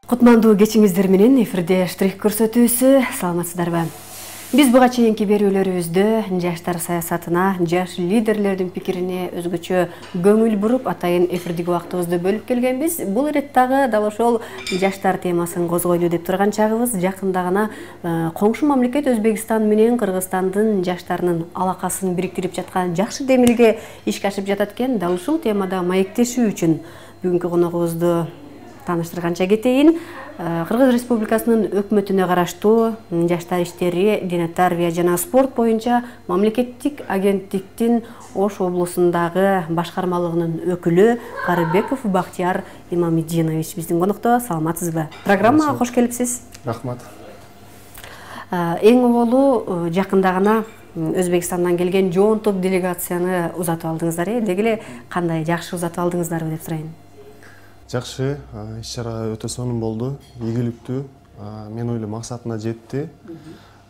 Кутмандуу кечиңиздер менен эфирде штрих көрсөтүүсү. Саламатсыздарбы? Биз буга чейинки берүүлөрүбүздө жаштар саясатына, жаш лидерлердин пикирине өзгөчө көңүл буруп, атайын эфирдеги убактыбызды бөлүп келгенбиз. Бул иреттагы дал ошол жаштар темасын козгойлу деп турган чагыбыз. Жакында гана коңшу мамлекет Өзбекстан менен Кыргызстандын жаштарынын алакасын бириктирип жаткан жакшы демилге ишке ашып жатат экен. Дал ушул темада маектешүү үчүн бүгүнкү коногубузду таныштырганча кетейин. Кыргыз Республикасынын өкмөтүнө караштуу жаштар иштери, дене тарбия жана спорт боюнча мамлекеттик агенттиктин Ош облусундагы башкармалыгынын өкүлү Карыбеков Бактияр Имамидинович биздин конокто. Саламатсызбы? Программага кош келипсиз. Рахмат. Эң оболу жакында гана Өзбекстандан келген жоонтук делегацияны узатып алдыңыздар. Деги эле кандай жакшы узатып алдыңыздарбы деп сурайын. Жакшы, иш-чара өтө сонун болду, ийгиликтүү. Мен ойлойм максатына жетти.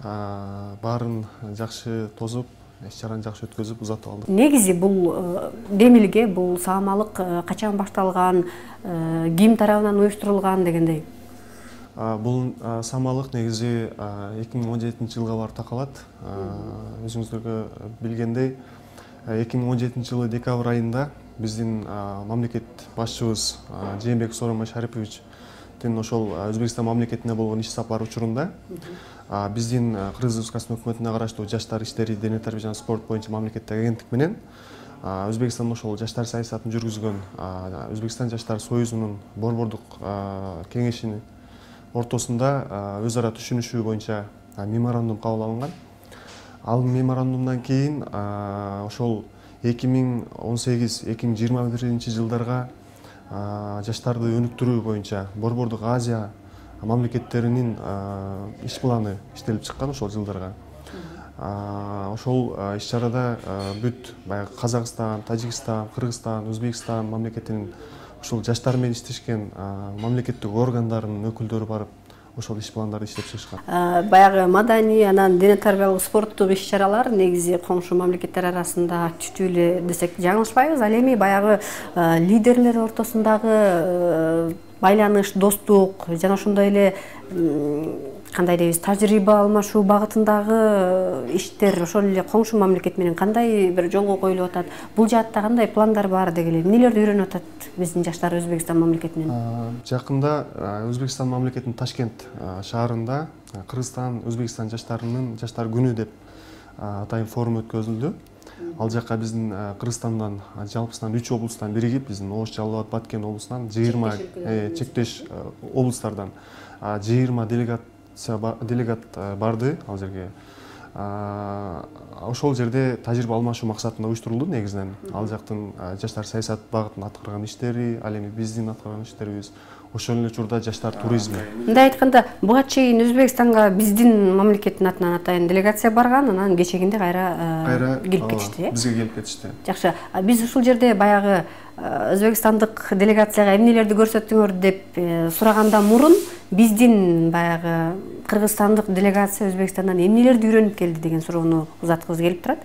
Баарын жакшы тосуп, иш-чараны жакшы өткөзүп узатып алдык. Негизи бул демилге, бул саамалык качан башталган, ким тарабынан уюштурулган дегендей? Бул саамалык негизи 2017-жылга барып такалат. Өзүңүздөргө билгендей, 2017-жылы декабрь айында биздин мамлекет башчыбыз Жээнбек Сооронбай Шариповичтин ошол Өзбекстан мамлекетине болгон иш сапары учурунда биздин Кыргыз Республикасынын өкмөтүнө караштуу жаштар иштери, дене тарбия жана спорт боюнча мамлекеттик агенттик менен Өзбекстан ошол жаштар саясатын жүргүзгөн Өзбекстан жаштар союзунун борбордук кеңешинин ортосунда өз ара түшүнүшүү боюнча меморандум кабыл алынган. Ал меморандумдан кийин ошол 2018-2021 жылдарга жаштарды өнүктүрүү боюнча борбордук Азия мамлекеттеринин иш планы иштелип чыккан ошол жылдарга. Ошол иш-чарада бүт баягы Казакстан, Тажикстан, Кыргызстан, Өзбекстан мамлекетинин ошол жаштар менен иштешкен мамлекеттик органдарынын өкүлдөрү барып ошол иш пландарды иштеп чыгышкан. Баягы маданий, анан дене тарбиялык спорттук иш-чаралар негизи коңшу мамлекеттер арасында күчтүү эле десек жаңылышпайбыз. Ал эми баягы лидерлер ортосундагы байланыш, достук жана ошондой эле кандай дейбиз, тажрыйба алмашуу багытындагы иштер ошол эле коңшу мамлекет менен кандай бир жолго коюлуп атат? Бул жаатта кандай пландар бар деги эле? Эмнелерди үйрөнүп атат биздин жаштар Өзбекстан мамлекетинен? Жакында Өзбекстан мамлекетинин Ташкент шаарында Кыргызстан Өзбекстан жаштарынын жаштар күнү деп атайын форум өткөзүлдү. Ал жакка биздин Кыргызстандан жалпысынан 3 облустан биригип, биздин Ош, Жалал Абад, Баткен облусунан 20 чектеш облустардан 20 делегат барды ал жерге. Ошол жерде тажрыйба алмашуу максатында уюштурулду негизинен. Ал жактын жаштар саясат багытын аткарган иштери, ал эми биздин аткарган иштерибиз, ошол эле учурда жаштар туризми. Мындай айтканда, буга чейин Өзбекстанга биздин мамлекеттин атынан атайын делегация барган, анан кечегинде кайра келип кетишти. Бизге келип кетишти. Жакшы. Биз ушул жерде баягы өзбекстандык делегацияга эмнелерди көрсөттүңөр деп сураганда мурун биздин баягы кыргызстандык делегация Өзбекстандан эмнелерди үйрөнүп келди деген суроону узаткыбыз келип турат.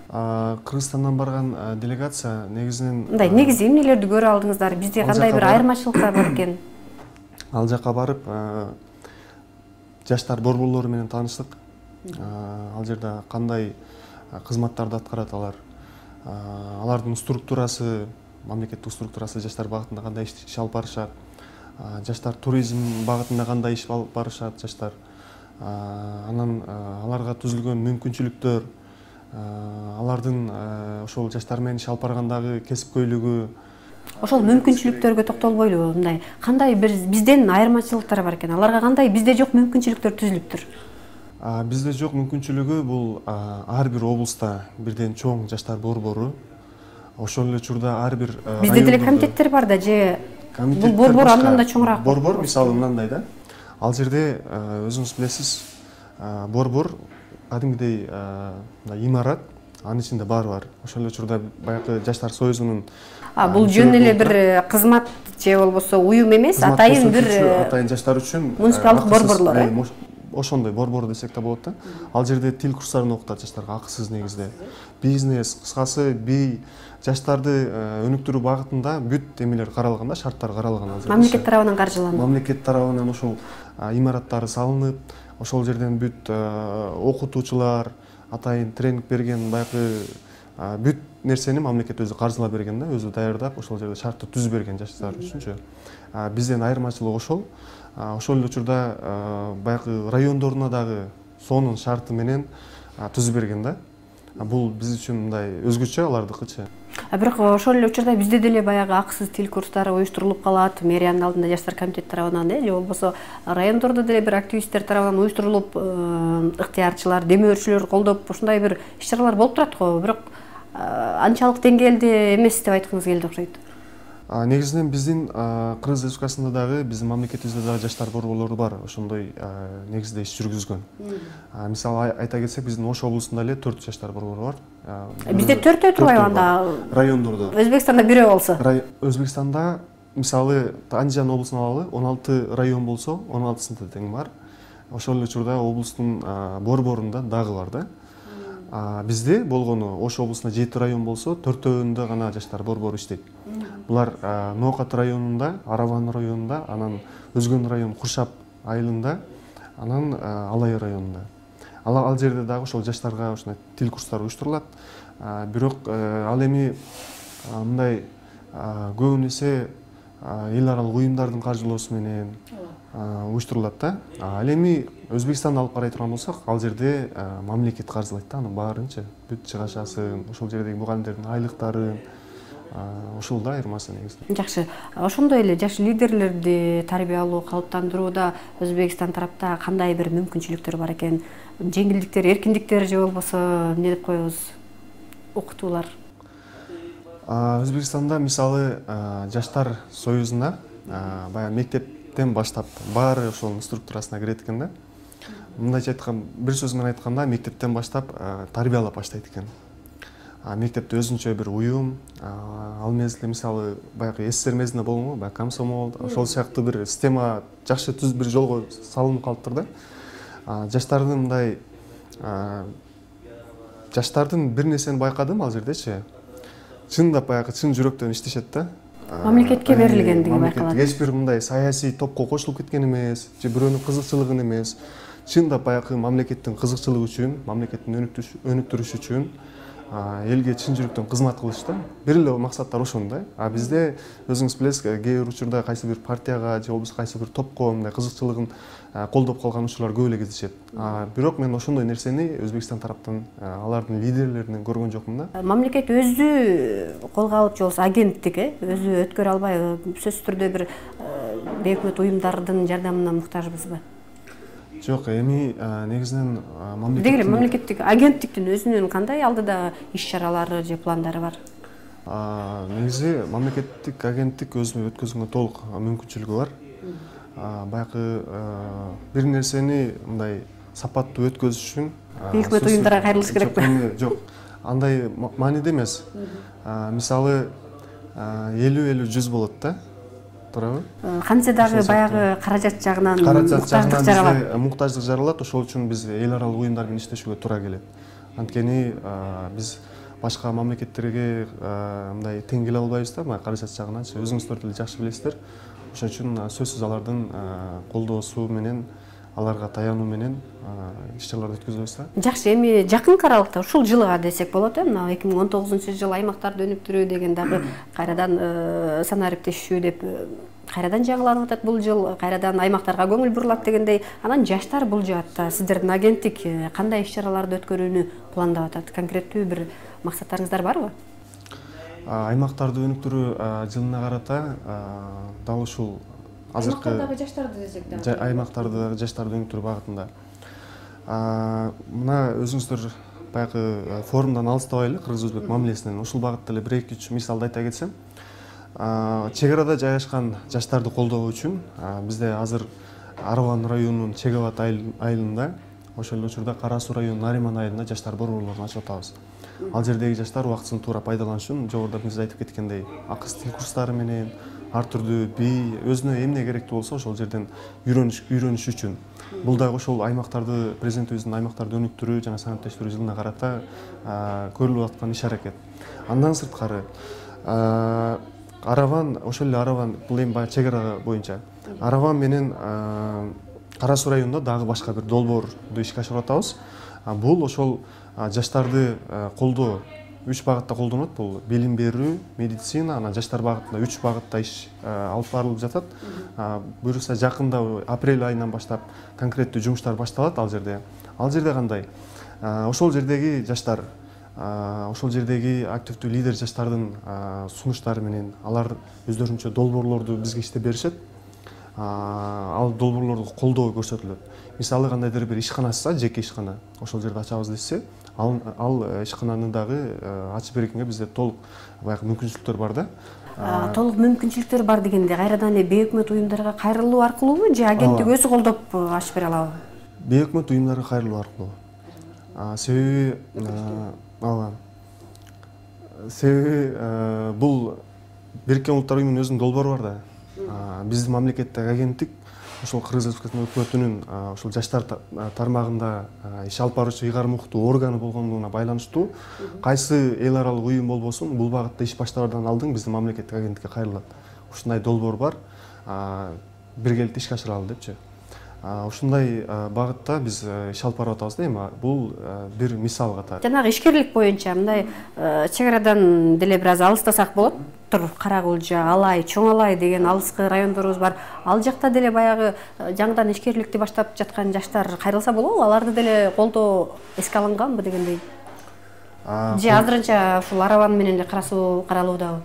Кыргызстандан барган делегация негизинен мындай негизи эмнелерди көрө алдыңыздар? Бизде кандай бир айырмачылыктар бар экен? Ал жака барып жаштар борборлору менен тааныштык. Ал жерде кандай кызматтарды аткарат алар? Алардын структурасы, мамлекеттик структурасы жаштар багытында кандай иш алып барышат? Жаштар туризм багытында кандай иш алып барышат жаштар? Анан аларга түзүлгөн мүмкүнчүлүктөр, алардын ошол жаштар менен иш алып баргандагы кесипкөйлүгү. Ошол мүмкүнчүлүктөргө токтолбойлубу? Мындай кандай бизден айырмачылыктар бар экен? Аларга кандай бизде жок мүмкүнчүлүктөр түзүлүптүр? Бизде жок мүмкүнчүлүгү бул ар бир облуста бирден чоң жаштар борбору. Ошол эле учурда ар бир бизде деле комитеттер бар да, же бул борбор андан да чоңураак? Борбор мисалы мындай да. Ал жерде өзүңүз билесиз, борбор кадимгидей имарат, анын ичинде баары бар. Ошол эле учурда баягы жаштар союзунун бул жөн эле бир кызмат же болбосо уюм эмес, атайын бир атайын жаштар үчүн муниципалдык борборлор. ошондой борбор десек да болот да. Ал жерде тил курстарын окутат жаштарга акысыз негизде. Бизнес, кыскасы жаштарды өнүктүрүү багытында бүт эмелер каралган да, шарттар каралган. Мамлекет тарабынан каржыланып. Мамлекет тарабынан ошол имараттары салынып, ошол жерден бүт окутуучулар, атайын тренинг берген, баягы бүт нерсени мамлекет өзү каржылап берген да, өзү даярдап, ошол жерде шартты түзүп берген жаштар үчүнчү. Бизден айырмачылыгы ошол. Ошол эле учурда баягы райондоруна дагы сонун шарты менен түзүп берген да. Бул биз үчүн мындай өзгөчө, алардыкычы. Бирок ошол эле учурда бизде деле баягы акысыз тил курстары уюштурулуп калат, мэриянын алдында жаштар комитети тарабынан же болбосо райондордо деле бир активисттер тарабынан уюштурулуп, ыктыярчылар, демөөрчүлөр колдоп ушундай бир иш-чаралар болуп турат го. Бирок анчалык деңгээлде эмес деп айткыңыз келди окшойт. Негизинен биздин Кыргыз Республикасында дагы, биздин мамлекетибизде дагы жаштар борборлору бар, ошондой негизде иш жүргүзгөн. Мисалы айта кетсек, биздин Ош облусунда эле 4 жаштар борбору бар. Бизде 4 турбайбы анда? Райондордо. Өзбекстанда 1 болсо. Өзбекстанда мисалы Андижан облусун алалы, 16 район болсо, 16сында тең бар. Ошол эле учурда облустун борборунда дагы бар да. Бизде болгону Ош облусунда 7 район болсо, 4-өүндө гана жаштар борбору иштейт. Булар Ноокат районунда, Араван районунда, анан Өзгөн район Куршап айылында, анан Алай районунда. Ал жерде дагы ошол жаштарга ушундай тил курстары уюштурулат. Бирок ал эми мындай көбүнесе эл аралык уюмдардын каржылоосу менен уюштурулат да. Ал эми Өзбекстанды алып карай турган болсок, ал жерде мамлекет каржылайт да, анын баарынчы. Бүт чыгашасын, ошол жердеги мугалимдердин айлыктарын, ошол да айырмасы негизинен. Жакшы. Ошондой эле жаш лидерлерди тарбиялоо, калыптандырууда Өзбекстан тарапта кандай бир мүмкүнчүлүктөр бар экен? Жеңилдиктер, эркиндиктер же болбосо эмне деп коебуз? Окутуулар. Өзбекстанда мисалы жаштар союзуна баягы мектептен баштап баары ошонун структурасына кирет экен да. Мындайча айтканда, бир сөз менен айтканда, мектептен баштап тарбиялап баштайт экен. Мектепте өзүнчө бир уюм, ал мезгилде мисалы баягы СССР мезгилинде болгонго, баягы комсомол, ошол сыяктуу бир система жакшы түз бир жолго салынып калыптыр да. Жаштардын мындай жаштардын бир нерсени байкадым ал жердечи. Чындап баягы чын жүрөктөн иштешет да. Мамлекетке берилгендиги байкалат. Эч бир мындай саясий топко кошулуп кеткен эмес, же бирөөнүн кызыкчылыгын эмес. Чындап баягы мамлекеттин кызыкчылыгы үчүн, мамлекеттин өнүктүрүшү үчүн элге чын жүрөктөн кызмат кылыш да. Бир эле максаттар ошондой. Бизде өзүңүз билесиз, кээ бир учурда кайсы бир партияга же болбосо кайсы бир топко мындай кызыкчылыгын колдоп калган учурлар көп эле кездешет. Бирок мен ошондой нерсени Өзбекстан тараптан алардын лидерлеринен көргөн жокмун да. Мамлекет өзү колго алып же болбосо агенттик өзү өткөрө албай, сөзсүз түрдө бир бейөкмөт уюмдардын жардамына муктажбызбы? Жок, эми негизинен мамлекеттик агенттиктин өзүнүн кандай алдыда иш-чаралары же пландары бар? Негизи мамлекеттик агенттик өзүнө өткөзгөнгө толук мүмкүнчүлүгү бар. Баягы бир нерсени мындай сапаттуу өткөзүш үчүн бейөкмөт уюмдарга кайрылыш керекпи? Жок, андай мааниде эмес. Мисалы 50-50-100 болот да. Туурабы? Кантсе дагы баягы каражат жагынан муктаждык жаралат, ошол үчүн биз эл аралык уюмдар менен иштешүүгө туура келет. Анткени биз башка мамлекеттерге мындай тең келе албайбыз да, каражат жагынан. Өзүңүздөр деле жакшы билесиздер. Ошон үчүн сөзсүз алардын колдоосу менен, аларга таянуу менен иш-чараларды өткөзөбүз да. Жакшы, эми жакынкы аралыкта ушул жылга десек болот, мына 2019-жыл аймактарды өнүктүрүү деген дагы кайрадан санариптешүү деп кайрадан жаңыланып атат бул жыл, кайрадан аймактарга көңүл бурулат дегендей. Анан жаштар бул жаатта сиздердин агенттик кандай иш-чараларды өткөрүүнү пландап атат? Конкреттүү бир максаттарыңыздар барбы? Аймактарды өнүктүрүү жылына карата дал ушул азыркы аймактардагы жаштарды десек да. Аймактардагы жаштарды өнүктүрүү багытында. Мына өзүңүздөр баягы форумдан алыстабай эле кыргыз-өзбек мамилесинен ушул багытта эле 1-2-3 мисалды айта кетсем, чек арада жайгашкан жаштарды колдоо үчүн бизде азыр Араван районунун Чегават айылында, ошол эле учурда Кара Суу районунун Нариман айылында жаштар борборлорун ачып атабыз. Ал жердеги жаштар убактысын туура пайдаланыш үчүн жогоруда биз айтып кеткендей акысыз тил курстары менен, ар түрдүү бий өзүнө эмне керектүү болсо ошол жерден үйрөнүш үчүн. Бул дагы ошол аймактарды президентибиздин аймактарды өнүктүрүү жана санаатташтыруу жылына карата көрүлүп аткан иш-аракет. Андан сырткары Араван, ошол эле Араван, бул эми баягы чек ара боюнча. Араван менен Кара Суу районунда дагы башка бир долбоорду ишке ашырып атабыз. Бул ошол жаштарды колдоо 3 багытта колдонот. Бул билим берүү, медицина, анан жаштар багытында 3 багытта иш алып барылып жатат. Буюрса жакында апрель айынан баштап конкреттүү жумуштар башталат ал жерде. Ал жерде кандай? Ошол жердеги жаштар, ошол жердеги активдүү лидер жаштардын сунуштары менен алар өздөрүнчө долбоорлорду бизге иштеп беришет. Ал долбоорлорду колдоо көрсөтүлөт. Мисалы кандайдыр бир ишкана ачса, жеке ишкана, ошол жерде ачабыз десе, ал ишкананы дагы ачып бергенге бизде толук баягы мүмкүнчүлүктөр бар да. Толук мүмкүнчүлүктөр бар дегенде кайрадан эле бейөкмөт уюмдарга кайрылуу аркылуубу же агенттик өзү колдоп ачып бере алабы? Бейөкмөт уюмдарга кайрылуу аркылуу. Себеби бул Бириккен Улуттар уюмунун өзүнүн долбоору бар да. Биздин мамлекеттеги агенттик ошол Кыргыз Республикасынын өкмөтүнүн ошол жаштар тармагында иш алып баруучу ыйгарым укуктуу органы болгондугуна байланыштуу кайсы эл аралык уюм болбосун бул багытта иш баштаардан алдын биздин мамлекеттик агенттикке кайрылат. Ушундай долбоор бар. Биргеликте ишке ашыралы депчи. Ушундай багытта биз иш алып барып атабыз да эми. Бул бир мисал катары. Жанагы ишкерлик боюнча мындай чек арадан деле бир аз алыстасак болот. Каракулжа, Алай, Чоң Алай деген алыскы райондорубуз бар. Ал жакта деле баягы жаңыдан ишкерликти баштап жаткан жаштар кайрылса болобу? Аларды деле колдоо эске алынганбы дегендей? Же азырынча ушул Араван менен эле Кара Суу каралуудабы?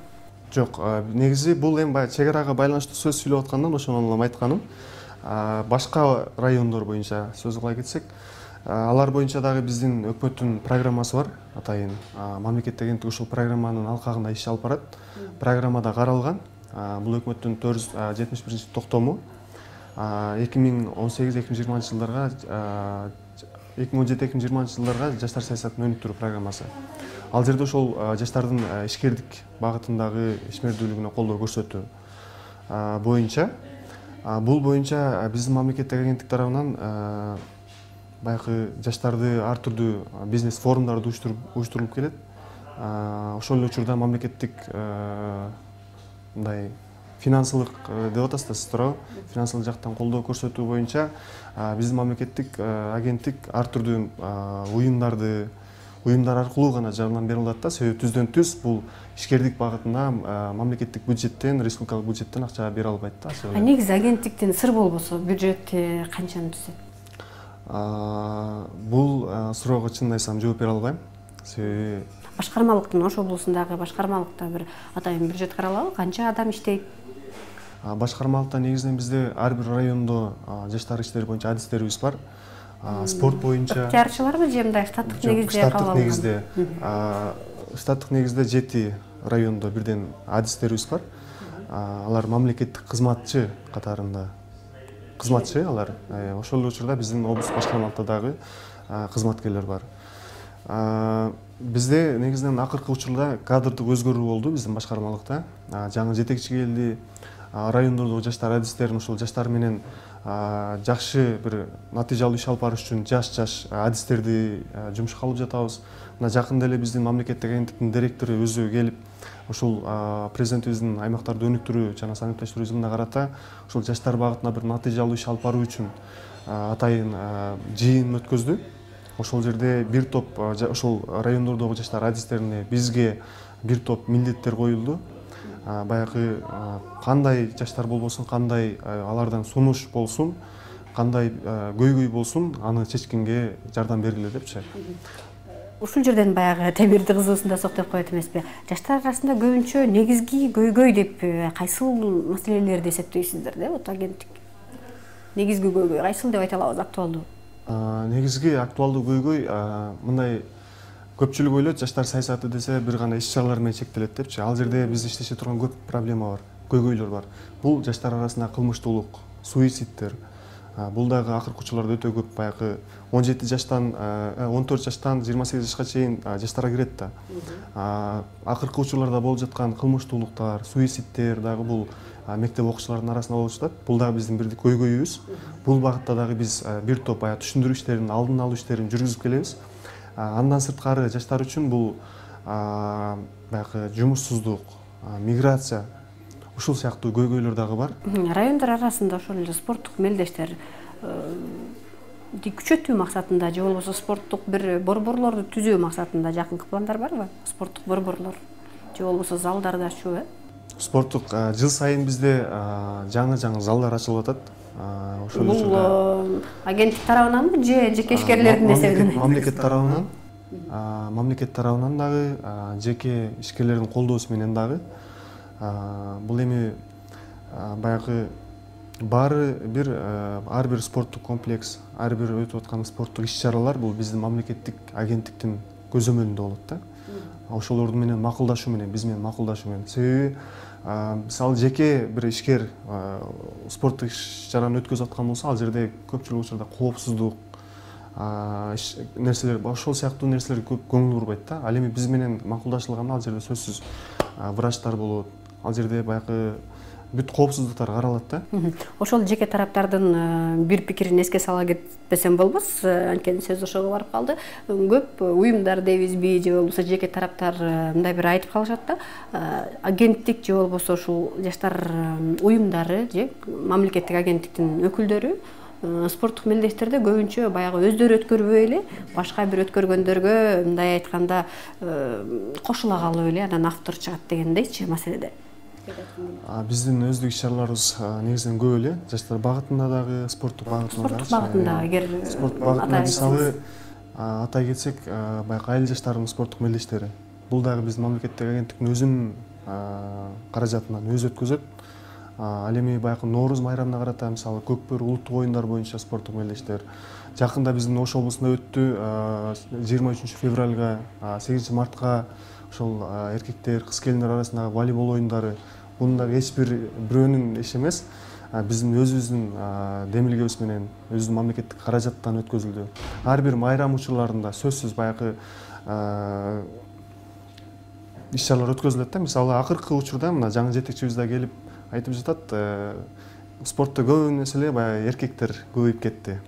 Жок, негизи бул эми баягы чек арага байланыштуу сөз сүйлөп аткандан ошону эле айтканым. Башка райондор боюнча сөз кыла кетсек, алар боюнча дагы биздин өкмөттүн программасы бар, атайын мамлекеттик агенттик ушул программанын алкагында иш алып барат. Программада каралган. Бул өкмөттүн 471 токтому 2018-2020 жылдарга 2017-2020 жылдарга жаштар саясатын өнүктүрүү программасы. Ал жерде ошол жаштардын ишкердик багытындагы ишмердүүлүгүнө колдоо көрсөтүү боюнча, бул боюнча биздин мамлекеттик агенттик тарабынан баягы жаштарды ар түрдүү бизнес форумдарды уюштурулуп келет. Ошол эле учурда мамлекеттик мындай финансылык деп атасыздар сиз туурабы? Финансылык жактан колдоо көрсөтүү боюнча биздин мамлекеттик агенттик ар түрдүү уюмдар аркылуу гана жардам бере алат да. Себеби түздөн түз бул ишкердик багытына мамлекеттик бюджеттен, республикалык бюджеттен акча бере албайт да. Негизи агенттиктин сыр болбосо бюджети канчаны түзөт? Бул суроого чынын айтсам жооп бере албайм. Себеби башкармалыктын ош облусундагы башкармалыкта бир атайын бюджет каралабы? Канча адам иштейт? Башкармалыкта негизинен бизде ар бир райондо жаштар иштери боюнча адистерибиз бар. Спорт боюнча ыктыярчыларбы же мындай штаттык негизде кабыл алган? Штаттык негизде 7 райондо бирден адистерибиз бар. Алар мамлекеттик кызматчы катарында. Кызматчы алар. Ошол эле учурда биздин облус башкармалыкта дагы кызматкерлер бар. Бизде негизинен акыркы учурда кадрдык өзгөрүү болду биздин башкармалыкта. Жаңы жетекчи келди. Райондордогу жаштар адистерин ошол жаштар менен жакшы бир натыйжалуу иш алып барыш үчүн жаш адистерди жумушка алып жатабыз. Мына жакында эле биздин мамлекеттик агенттиктин директору өзү келип, ошол президентибиздин аймактарды өнүктүрүү жана санаатташтыруу жылына карата ошол жаштар багытына бир натыйжалуу иш алып баруу үчүн атайын жыйын өткөздү. Ошол жерде бир топ ошол райондордогу жаштар адистерине бизге бир топ милдеттер коюлду. Баягы кандай жаштар болбосун, кандай алардан сунуш болсун, кандай көйгөй болсун, аны чечкенге жардам бергиле депчи. Ушул жерден баягы темирди кызуусунда соктоп коет эмеспи? Жаштар арасында көбүнчө негизги көйгөй деп кайсыл маселелерди эсептейсиздер деп вот агенттик? Негизги көйгөй кайсыл деп айта алабыз, актуалдуу? Негизги актуалдуу көйгөй мындай көпчүлүк ойлойт, жаштар саясаты десе бир гана иш-чаралар менен чектелет депчи. Ал жерде биз иштеше турган көп проблема бар, көйгөйлөр бар. Бул жаштар арасында кылмыштуулук, суицидтер, Бул дагы акыркы учурларда өтө көп баягы 17 жаштан 14 жаштан 28 жашка чейин жаштар кирет да. Акыркы учурларда болуп жаткан кылмыштуулуктар, суицидтер дагы бул мектеп окуучуларынын арасында болуп жатат. Бул дагы биздин бир көйгөйүбүз. Бул багытта дагы биз бир топ түшүндүрүү иштерин, алдын алуу иштерин жүргүзүп келебиз. Андан сырткары жаштар үчүн бул баягы жумуссуздук, миграция ушул сыяктуу көйгөйлөр дагы бар. Райондар арасында ошол эле спорттук мелдештер күчөтүү максатында же болбосо спорттук бир борборлорду түзүү максатында жакынкы пландар барбы? Спорттук борборлор же болбосо залдарды ачуу? Спорттук жыл сайын бизде жаңы залдар ачылып атат. Ошол бул агенттик тарабынан же жеке эсебинен? Мамлекет тарабынан дагы, жеке ишкерлердин колдоосу менен дагы. Бул эми баягы баары бир ар бир спорттук комплекс, ар бир өтүп аткан спорттук иш-чаралар бул биздин мамлекеттик агенттиктин көзөмөлүндө болот да. Ошолорду менен макулдашуу менен, биз менен макулдашуу менен. Себеби мисалы жеке бир ишкер спорттук иш-чараны өткөзүп аткан болсо, ал жерде көпчүлүк учурда коопсуздук нерселер, ошол сыяктуу нерселерге көп көңүл бурбайт да. Ал эми биз менен макулдашылганда ал жерде сөзсүз врачтар болот. Ал жерде баягы бүт коопсуздуктар каралат да. Ошол жеке тараптардын бир пикирин эске сала кетпесем болбос, анткени сөз ошого барып калды. Көп уюмдар дейбизби же болбосо жеке тараптар мындай бир айтып калышат да, агенттик же болбосо ушул жаштар уюмдары же мамлекеттик агенттиктин өкүлдөрү спорттук мелдештерде көбүнчө баягы өздөрү өткөрбөй эле башка бир өткөргөндөргө мындай айтканда кошула калып эле анан автор чыгат дегендейчи маселеде. Биздин өздүк иш-чараларыбыз негизинен көп эле жаштар багытында дагы, спорттук багытында дагы. Спорттук багытында мисалы атай кетсек, баягы айыл жаштарынын спорттук мелдештери. Бул дагы биздин мамлекеттик агенттиктин өзүнүн каражатынан өзү өткөзөт. Ал эми баягы Нооруз майрамына карата мисалы Көкбөр улуттук оюндар боюнча спорттук мелдештер. Жакында биздин Ош облусунда өттү 23 февралга, 8 мартка ошол эркектер, кыз келиндер арасындагы волейбол оюндары. Бунун дагы эч бирөөнүн иши эмес. Биздин өзүбүздүн демилгебиз менен, өзүбүздүн мамлекеттик каражаттан өткөзүлдү. Ар бир майрам учурларында сөзсүз баягы иш-чаралар өткөзүлөт да. Мисалы акыркы учурда мына жаңы жетекчибиз да келип айтып жатат, спортто көбүнесе эле баягы эркектер көбөйүп кетти.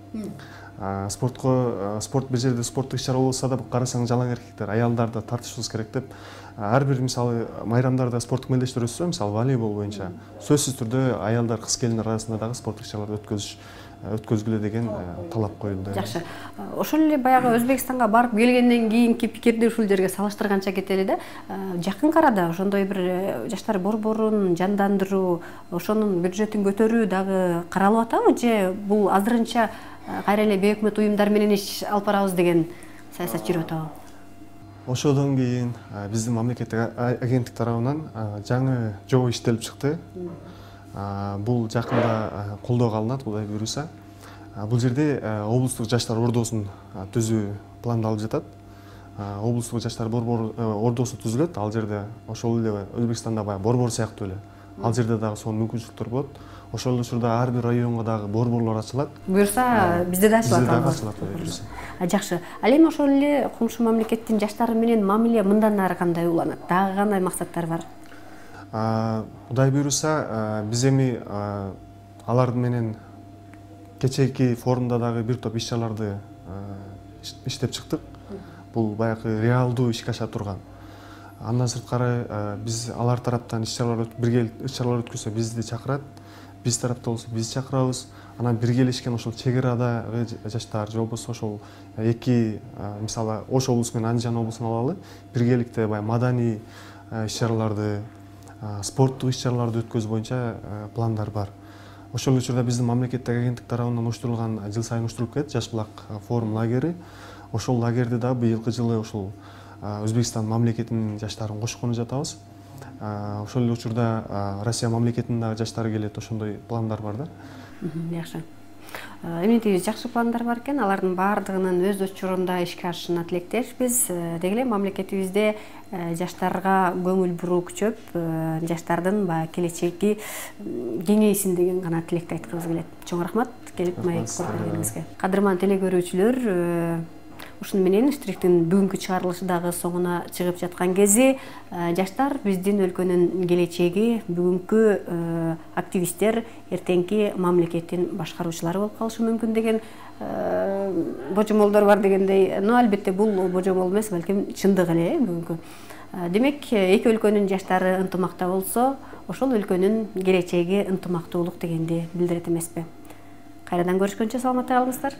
Спорт бир жерде спорттук иш-чара болсо да карасаң жалаң эркектер, аялдарды тартышыбыз керек деп. Ар бир мисалы майрамдарда спорттук мелдештер өтсө, мисалы волейбол боюнча сөзсүз түрдө аялдар, кыз келиндер арасында дагы спорттук иш-чараларды өткөзгүлө деген талап коюлду. Жакшы. Ошол эле баягы Өзбекстанга барып келгенден кийинки пикирди ушул жерге салыштырганча кетели да. Жакын арада ошондой бир жаштар борборун жандандыруу, ошонун бюджетин көтөрүү дагы каралып атабы же бул азырынча кайра эле бейөкмөт уюмдар менен иш алып барабыз деген саясат жүрүп атабы? Ошодон кийин биздин мамлекеттик агенттик тарабынан жаңы жобо иштелип чыкты. Бул жакында колдоого алынат, Кудай буйруса. Бул жерде облустук жаштар ордосун түзүү пландалып жатат. Облустук жаштар ордосу түзүлөт. Ал жерде ошол эле Өзбекстанда баягы борбор сыяктуу эле. Ал жерде дагы сонун мүмкүнчүлүктөр болот. Ошол эле учурда ар бир районго дагы борборлор ачылат. Буюрса, bizde да ачылат. Bizde дагы ачылат. Жакшы. Ал эми ошол эле комшу мамлекеттин жаштары менен мамиле мындан ары кандай уланат? Дагы кандай максаттар бар? Кудай буйруса, биз эми алар менен кечээки форумда дагы бир топ иш-чараларды иштеп чыктык. Бул баягы реалдуу ишке аша турган. Андан сырткары биз алар тараптан бирге иш-чаралар өткөзсө бизди чакырат. Биз тарапта болсо биз чакырабыз. Анан биргелешкен ошол чек арадагы жаштар же болбосо ошол эки мисалы Ош облусу менен Андижан облусун алалы, биргеликте баягы маданий иш-чараларды, спорттук иш-чараларды өткөзүү боюнча пландар бар. Ошол учурда биздин мамлекеттик агенттик тарабынан уюштурулган жыл сайын уюштурулуп келет Жаш булак форум лагери. Ошол лагерде да быйылкы жылы ошол Өзбекстан мамлекетинин жаштарын кошкону жатабыз. Ошол эле учурда Россия мамлекетинин дагы жаштары келет, ошондой пландар бар да. Жакшы. Эмнетебиз жакшы пландар бар экен, алардын баардыгынын өз учурунда ишке ашышына тилектешпиз. Деги эле мамлекетибизде жаштарга көңүл буруу күчөп, жаштардын баягы келечеги кеңейсин деген гана тилекти айткыбыз келет. Чоң рахмат келип маек көргөнүңүзгө. Кадырман телекөрүүчүлөр, ушуну менен штрихтин бүгүнкү чыгарылышы дагы соңуна чыгып жаткан кези. Жаштар биздин өлкөнүн келечеги, бүгүнкү активисттер эртеңки мамлекеттин башкаруучулары болуп калышы мүмкүн деген божомолдор бар дегендей. Но албетте бул божомол эмес, балким чындык эле бүгүнкү. Демек, эки өлкөнүн жаштары ынтымакта болсо, ошол өлкөнүн келечеги ынтымактуулук дегенди билдирет эмеспи? Кайрадан көрүшкөнчө саламатта калыңыздар.